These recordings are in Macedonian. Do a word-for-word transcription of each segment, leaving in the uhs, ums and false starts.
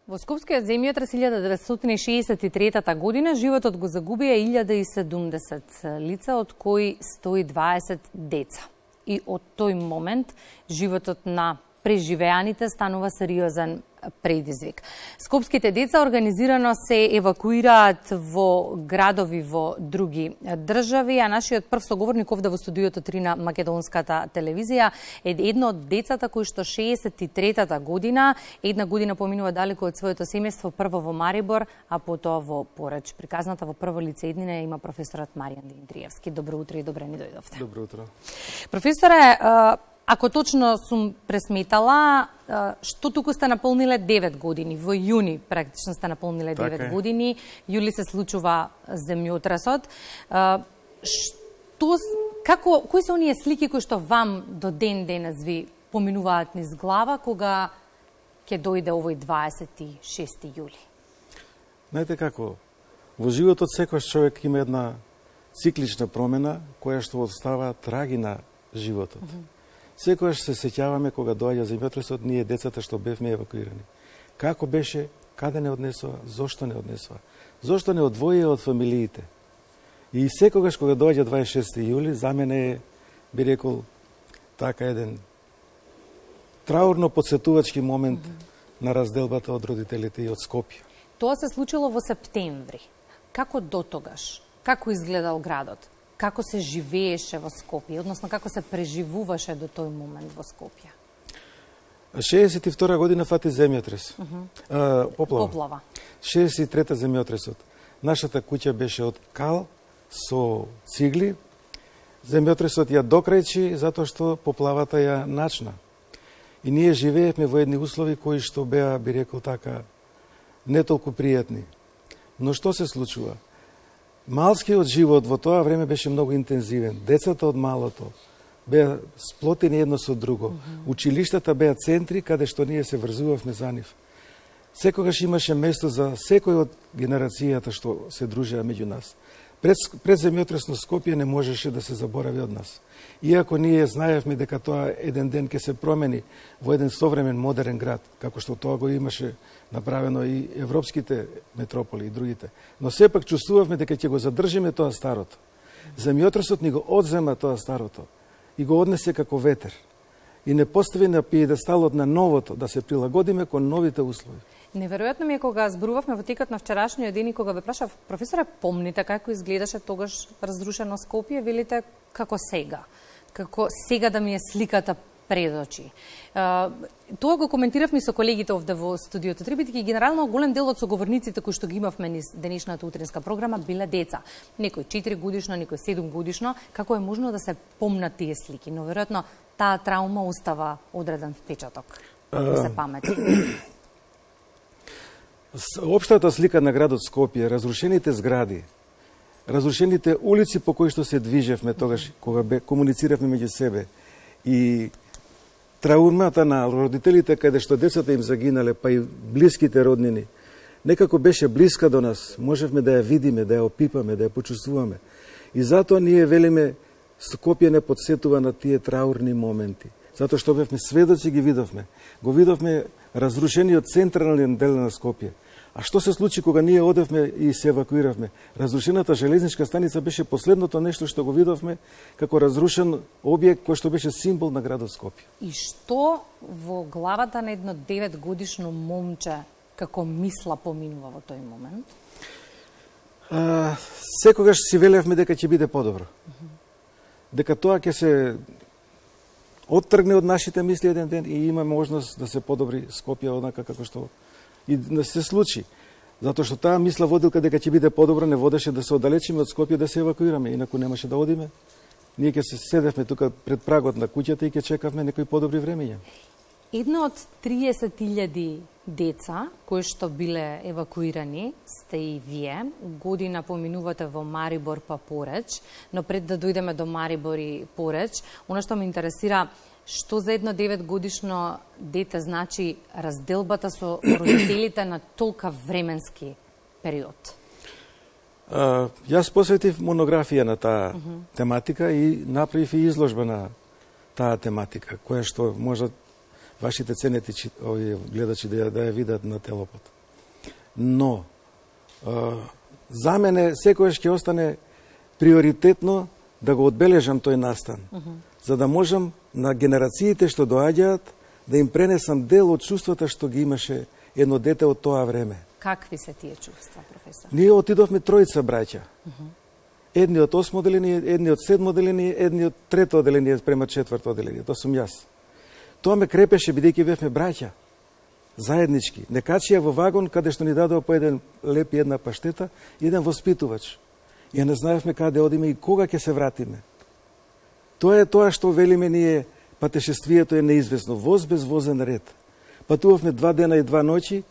Во Скопскиот земјотрес илјада деветстотини шеесет и трета година животот го загубија илјада и седумдесет лица, од кои сто и дваесет деца. И од тој момент животот на преживеаните станува сериозен предизвик. Скопските деца организирано се евакуираат во градови во други држави, а нашиот прв соговорник овде во студиото три на македонската телевизија е едно од децата кои што шеесет и трета година, една година поминува далеко од своето семејство, прво во Марибор, а потоа во Пореч. Приказната во прво лице еднина има професорот Маријан Димитриевски. Добро утро и добре ни дојдовте. Добро утро. Професоре, ако точно сум пресметала, што туку сте наполниле девет години, во јуни практично сте наполниле девет така години, јули се случува земјотресот. Што, како, кои се оние слики кои што вам до ден денес ви поминуваат низ глава кога ќе дојде овој дваесет и шести јули? Знаете како, во животот секојаш човек има една циклична промена која што остава траги на животот. Mm -hmm. Секојаш се сеќаваме кога доаѓа земјотресот, ние децата што бевме евакуирани. Како беше, каде не однесува, зошто не однесува, зошто не одвоија од фамилиите. И секогаш кога доаѓа дваесет и шести јули, за мене е, би рекол, така еден траурно подсетувачки момент mm -hmm. на разделбата од родителите и од Скопје. Тоа се случило во септември. Како дотогаш? Како изгледал градот? Како се живееше во Скопје, односно како се преживуваше до тој момент во Скопје? шеесет и втора година фати земјотрес. Uh -huh. а, поплава. Поплава. шеесет и трета земјотресот. Нашата куќа беше од кал со цигли. Земјотресот ја докрајчи затоа што поплавата ја начна. И ние живеевме во едни услови кои што беа, би рекол така, не толку пријатни. Но што се случува? Малскиот живот во тоа време беше многу интензивен. Децата од малото беа сплотени едно со друго. Mm -hmm. Училиштата беа центри каде што ние се врзувавме за нив. Секогаш имаше место за секој од генерацијата што се дружеа меѓу нас. Пред, пред земјотресно Скопје не можеше да се заборави од нас. Иако ние знаевме дека тоа еден ден ќе се промени во еден современ модерен град, како што тоа го имаше направено и европските метрополи и другите. Но сепак чувствувавме дека ќе го задржиме тоа старото. Земјотресот ни го одзема тоа старото и го однесе како ветер. И не постави на пиедесталот на новото, да се прилагодиме кон новите услови. Неверојатно ми е кога зборувавме во текот на вчерашниот ден и кога ве прашав, професоре, помните како изгледаше тогаш разрушено Скопје, велите како сега. Како сега да ми е сликата пред очи. Тоа го коментиравме со колегите овде во студиото три, бидејќи генерално голем дел од соговорниците кои што ги имавме низ денешната утринска програма биле деца. Некој четири годишно, некој седум годишно. Како е можно да се помнат тие слики? Но веројатно таа траума остава одреден впечаток во се памети. Општата слика на градот Скопје, разрушените згради, разрушените улици по кои што се движевме тогаш кога бе комунициравме меѓу себе и траумата на родителите каде што децата им загинале, па и блиските роднини, некако беше блиска до нас, можевме да ја видиме, да ја опипаме, да ја почувствуваме. И затоа ние велиме Скопје не подсетува на тие траурни моменти, затоа што бевме сведоци, ги видовме. Го видовме разрушениот централен дел на Скопје. А што се случи кога ние одевме и се евакуиравме? Разрушената железничка станица беше последното нешто што го видовме како разрушен објект кој што беше символ на градот Скопје. И што во главата на едно девет годишно момче како мисла поминува во тој момент? А, секогаш си велевме дека ќе биде подобро. Uh -huh. Дека тоа ќе се оттргне од нашите мисли еден ден и има можност да се подобри Скопје однака како што и да се случи. Затоа што таа мисла водилка дека ќе биде подобро не водеше да се оддалечиме од Скопје да се евакуираме, инаку немаше да одиме. Ние ќе се седевме тука пред прагот на куќата и ќе чекавме некои подобри времења. Едно од триесет илјади деца кои што биле евакуирани сте и вие. Година поминувате во Марибор па Пореч, но пред да дојдеме до Марибор и Пореч, она што ме интересира, што за едно девет годишно дете значи разделбата со родителите на толка временски период? А, јас посветив монографија на таа uh -huh. тематика и направив и изложба на таа тематика, која што може вашите ценети овие гледачи да ја, да ја видат на Телопод. Но, за мене секојаш ќе остане приоритетно да го одбележам тој настан, uh -huh. за да можам на генерациите што доаѓаат да им пренесам дел од чувствата што ги имаше едно дете од тоа време. Какви се тие чувства, професор? Ние отидовме тројца браќа. Uh -huh. Едни од осмо оделение, едни од седмо оделение, едни од трето оделение према четврто оделение. Тоа сум јас. Тоа ме крепеше бидејќи бевме браќа. Заеднички. Не качија во вагон каде што ни дадоа по еден леп и една паштета и еден воспитувач. И не знаевме каде одиме и кога ќе се вратиме. Тоа е тоа што велиме ние, патешествието е неизвестно, воз без возен ред. Патувавме два дена и два ноќи,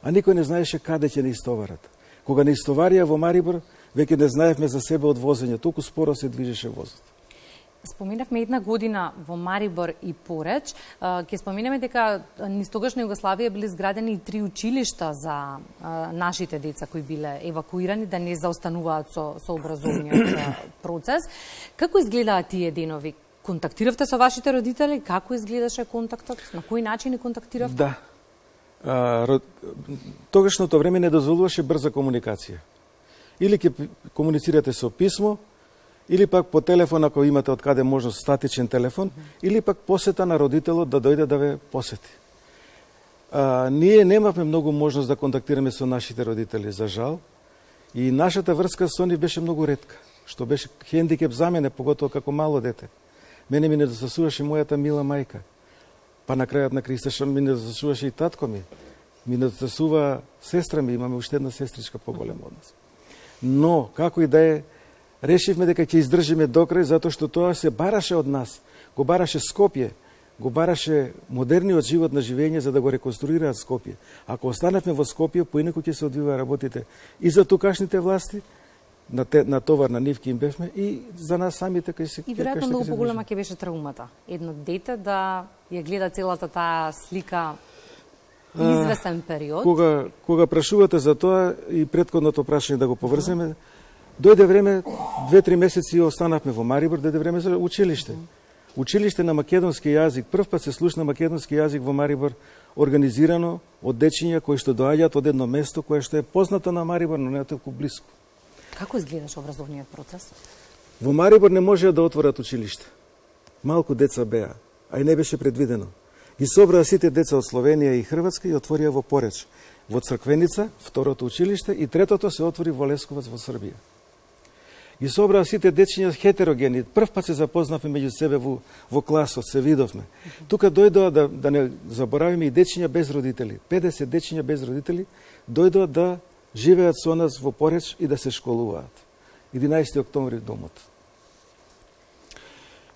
а никој не знаеше каде ќе не истоварат. Кога не истоварија во Марибор, веќе не знаевме за себе од возење, толку споро се движеше возот. Споминавме една година во Марибор и Пореч. Ќе споминеме дека низ тогашна Југославија биле изградени и три училишта за нашите деца кои биле евакуирани да не заостануваат со, со образовниот процес. Како изгледаат тие денови? Контактиравте со вашите родители? Како изгледаше контактот? На кој начин контактиравте? Да. А, род... Тогашното време не дозволуваше брза комуникација. Или ќе комуницирате со писмо, или пак по телефон, ако имате од каде можност статичен телефон, mm -hmm. или пак посета на родителот да дојде да ве посети. А, ние немавме многу можност да контактираме со нашите родители, за жал, и нашата врска со нив беше многу ретка, што беше хендикеп за мене, поготово како мало дете. Мене ми недостасуваше мојата мила мајка, па на крајот на Криста ми недостасуваше и татко ми, ми недостасува сестра ми, имаме уште една сестричка поголема од нас. Но, како и да е, решивме дека ќе издржиме докрај, затоа што тоа се бараше од нас. Го бараше Скопје, го бараше модерниот живот на живење за да го реконструираат Скопје. Ако останавме во Скопје, поинаку ќе се одвиваа работите и за тукашните власти, на, те, на товар на нив им бевме, и за нас самите кај се... И веројатно многу поголема ќе беше траумата. Едно дете да ја гледа целата таа слика известен период. Кога, кога прашувате за тоа и претходното прашање да го поврземе, дојде време, две-три месеци останавме во Марибор, дојде време за училиште. Училиште на македонски јазик, прв пат се слушна македонски јазик во Марибор, организирано од дечиња кои што доаѓаат од едно место кое што е познато на Марибор, но не е толку блиско. Како изгледаше образовниот процес? Во Марибор не можеа да отворат училиште. Малку деца беа, а и не беше предвидено. Ги собраа сите деца од Словенија и Хрватска и отворија во Пореч, во Црквеница, второто училиште, и третото се отвори во Лесковац во Србија. Ги собраа сите дечиња хетерогени. Прв пат се запознавме меѓу себе во, во класот, се видовме. Mm-hmm. Тука дојдоа, да, да не заборавиме, и дечиња без родители. педесет дечиња без родители дојдоа да живеат со нас во Пореч и да се школуваат. единаесети октомври домот.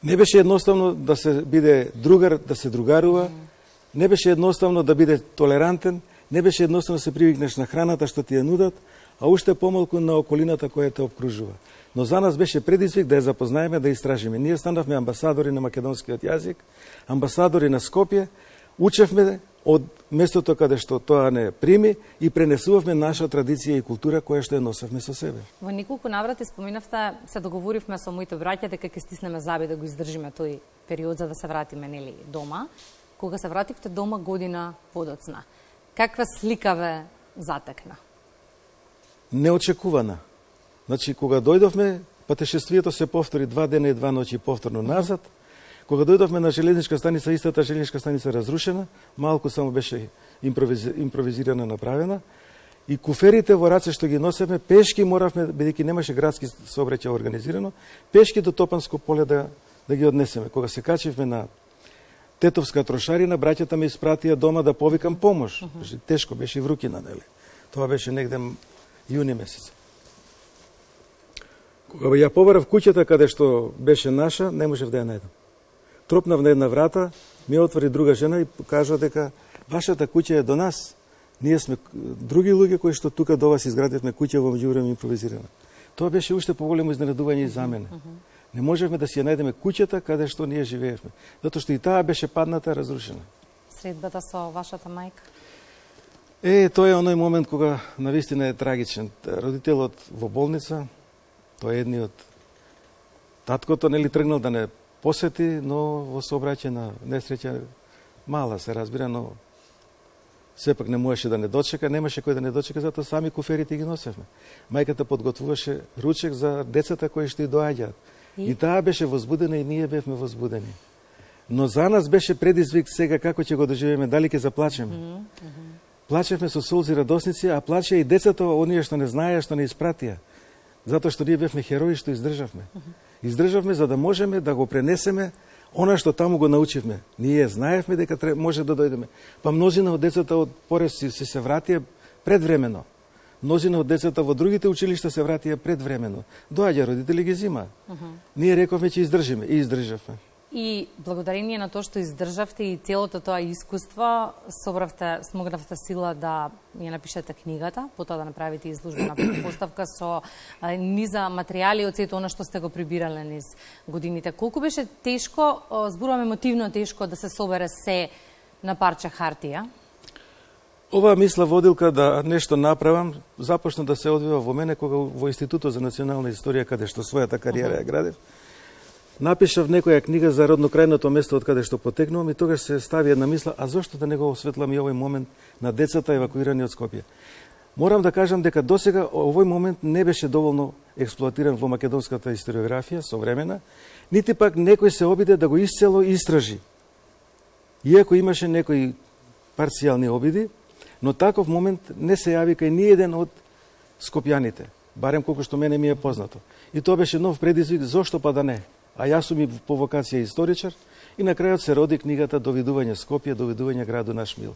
Не беше едноставно да се биде другар, да се другарува, не беше едноставно да биде толерантен, не беше едноставно да се привикнеш на храната што ти ја нудат, а уште помалку на околината која те обкружува. Но за нас беше предизвик да ја запознаеме, да истражиме. Ние станавме амбасадори на македонскиот јазик, амбасадори на Скопје, учевме од местото каде што тоа не прими и пренесувавме наша традиција и култура која што ја носевме со себе. Во неколку наврати споминавте, се договоривме со моите браќа дека ќе стиснеме заби да го издржиме тој период за да се вратиме нели дома. Кога се вративте дома година подоцна, каква слика ве затекна? Неочекувана. Значи, кога дојдовме, патешествието се повтори два дена и два ноќи повторно назад. Кога дојдовме на железничка станица, истата железничка станица разрушена, малку само беше импровизи, импровизирана направена, и куферите во раце што ги носевме, пешки моравме, бидејќи немаше градски сообраќај организирано, пешки до Топанско поле да, да ги однесеме. Кога се качивме на Тетовска трошарина, браќата ме испратија дома да повикам помош. Uh -huh. Тешко беше и врукина, нели? Тоа беше негде јуни месец. Кога ја побарав куќата каде што беше наша, не можев да ја најдам. Тропнав на една врата, ми отвори друга жена и кажа дека вашата куќа е до нас. Ние сме други луѓе кои што тука до вас изградивме куќа во меѓувреме импровизирана. Тоа беше уште поголемо изненадување и за мене. Uh -huh. Не можевме да си ја најдеме куќата каде што ние живеевме, затоа што и таа беше падната и разрушена. Средбата со вашата мајка? Е, тоа е оној момент кога навистина е трагичен. Родителот во болница, тој е едниот. Таткото нели тргнал да не посети, но во сообраќајна несреќа, мала се разбира, но Сепак не можеше да не дочека, немаше кој да не дочека, затоа сами куферите ги носевме. Мајката подготвуваше ручек за децата кои што и доаѓаат. И, и таа беше возбудена и ние бевме возбудени. Но за нас беше предизвик сега како ќе го доживееме, дали ќе заплачеме. Mm -hmm. Плачевме со солзи радосници, а плачеа и децата, оние што не знаеа, што не испратија. Затоа што ние бевме херои што издржавме. Mm -hmm. Издржавме за да можеме да го пренесеме она што таму го научивме. Ние знаевме дека може да дојдеме. Па мнозина од децата од Порез се се вратија предвремено. Мнозина од децата во другите училишта се вратија предвремено. Доаѓа родители ги зима. Uh -huh. Ние рековме ќе издржиме и издржавме. И благодарение на тоа што издржавте и целото тоа искуство, собравте, смогнавте сила да ја напишете книгата, потоа да направите изложбена поставка со низа материјали од сето она што сте го прибирале низ годините. Колку беше тешко, зборувам емотивно тешко, да се собере се на парче хартија? Оваа мисла водилка да нешто направам, започна да се одвива во мене кога во Институтот за национална историја, каде што својата кариера ја градев, напишав некоја книга за роднокрајното место од каде што потекнувам и тогаш се стави една мисла, а зошто да не го осветлам и овој момент на децата евакуирани од Скопје? Морам да кажам дека досега овој момент не беше доволно експлоатиран во македонската историографија современа, нити пак некој се обиде да го исцело истражи. Иако имаше некои парцијални обиди, но таков момент не се јави кај ни еден од скопјаните, барем колку што мене ми е познато. И тоа беше нов предизвик, зошто па да не? А јас сум и по вокација историчар и на крајот се роди книгата Довидување Скопје, довидување граду наш мил,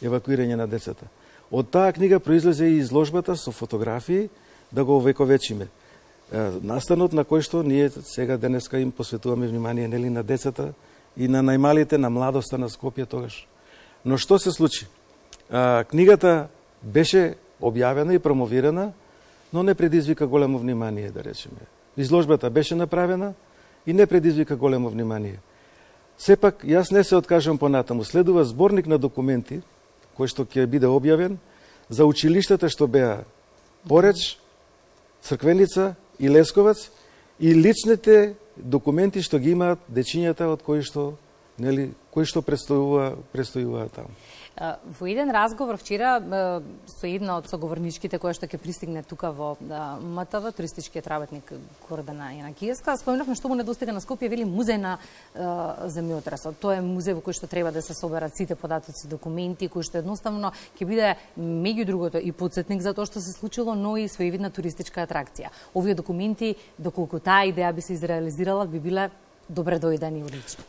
евакуирање на децата. Од таа книга произлезе и изложбата со фотографии да го овековечиме. Настанот на кој што ние сега денеска им посветуваме внимание нели на децата и на најмалите, на младоста на Скопје тогаш. Но што се случи? А, книгата беше објавена и промовирана, но не предизвика големо внимание, да речеме. Изложбата беше направена и не предизвика големо внимание. Сепак, јас не се откажам понатаму. Следува зборник на документи, кој што ќе биде објавен, за училиштата што беа Пореч, Црквеница и Лесковац, и личните документи што ги имаат дечињата од кои што, нели, кои што престојува, престојува таму. Во еден разговор вчера со една од соговорничките која што ќе пристигне тука во М Т В, туристичкиот работник Гордана Јанакиевска, спомнавме што му недостига на Скопје, вели музеј на земјотресот. Тоа е музеј во кој што треба да се соберат сите податоци, документи, кој што едноставно ќе биде меѓу другото и потсетник за тоа што се случило, но и своевидна туристичка атракција. Овие документи, доколку таа идеја би се изреализирала, би биле добре дојдени и одлични.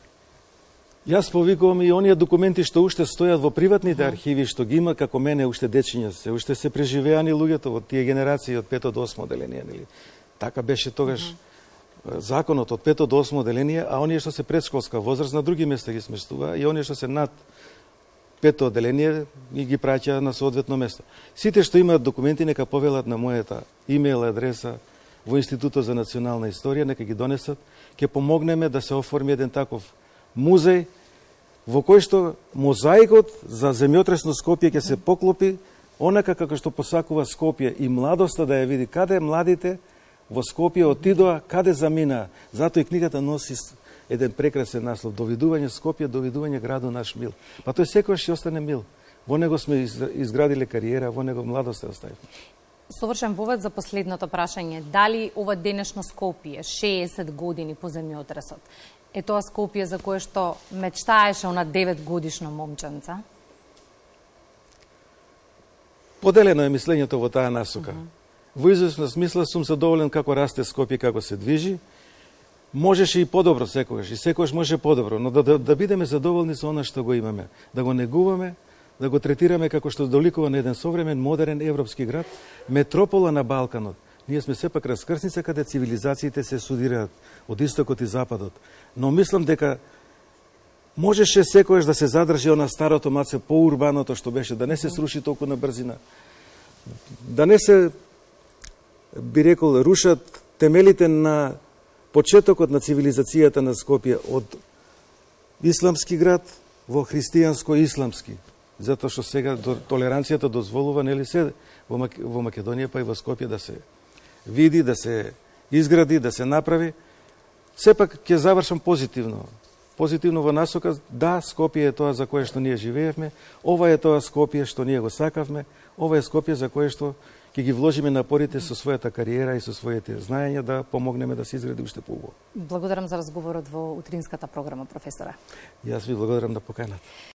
Јас повикувам и оние документи што уште стојат во приватните архиви, што ги има како мене уште дечиња се, уште се преживеани луѓето од тие генерации од пето до осмо оделение, нели? Така беше тогаш uh -huh. законот од пето до осмо оделение, а оние што се предшколска возраст на други места ги сместува и оние што се над пето оделение и ги праќа на соодветно место. Сите што имаат документи нека повелат на мојата имейл адреса во Институтот за национална историја, нека ги донесат, ќе помогнеме да се оформи еден таков музеј во кој што мозаикот за земјотресно Скопје ќе се поклопи онака како што посакува Скопје и младоста да ја види каде младите во Скопје отидоа, каде заминаа. Затоа и книгата носи еден прекрасен наслов: Довидување Скопје, довидување граду наш мил. Па тој секогаш ќе остане мил. Во него сме изградиле кариера, во него младост оставивме. Совршен вовед за последното прашање. Дали ова денешно Скопје, шеесет години по земјотресот, е тоа Скопје за кое што мечтаеше она девет годишно момченца? Поделено е мислењето во таа насока. Uh -huh. Во известна смисла сум задоволен како расте Скопје, како се движи. Можеше и подобро секогаш, и секогаш може подобро, но да, да, да бидеме задоволни со она што го имаме, да го негуваме, да го третираме како што доликува на еден современ, модерен европски град, метропола на Балканот. Ние сме сепак раскрсница каде цивилизациите се судираат од истокот и западот. Но мислам дека можеше секојаш да се задржи она старото маце поурбаното што беше, да не се сруши толку на брзина. Да не се, би рекол, рушат темелите на почетокот на цивилизацијата на Скопје од исламски град во христијанско-исламски. Затоа што сега толеранцијата дозволува, нели се, во Македонија па и во Скопје да се види, да се изгради, да се направи. Сепак ќе завршам позитивно. позитивно во насока, да, Скопје е тоа за кое што ние живеевме, ова е тоа Скопје што ние го сакавме, ова е Скопје за кое што ќе ги вложиме напорите со својата кариера и со своите знаења да помогнеме да се изгради уште поубаво. Благодарам за разговорот во утринската програма, професора. Јас ви благодарам да поканат.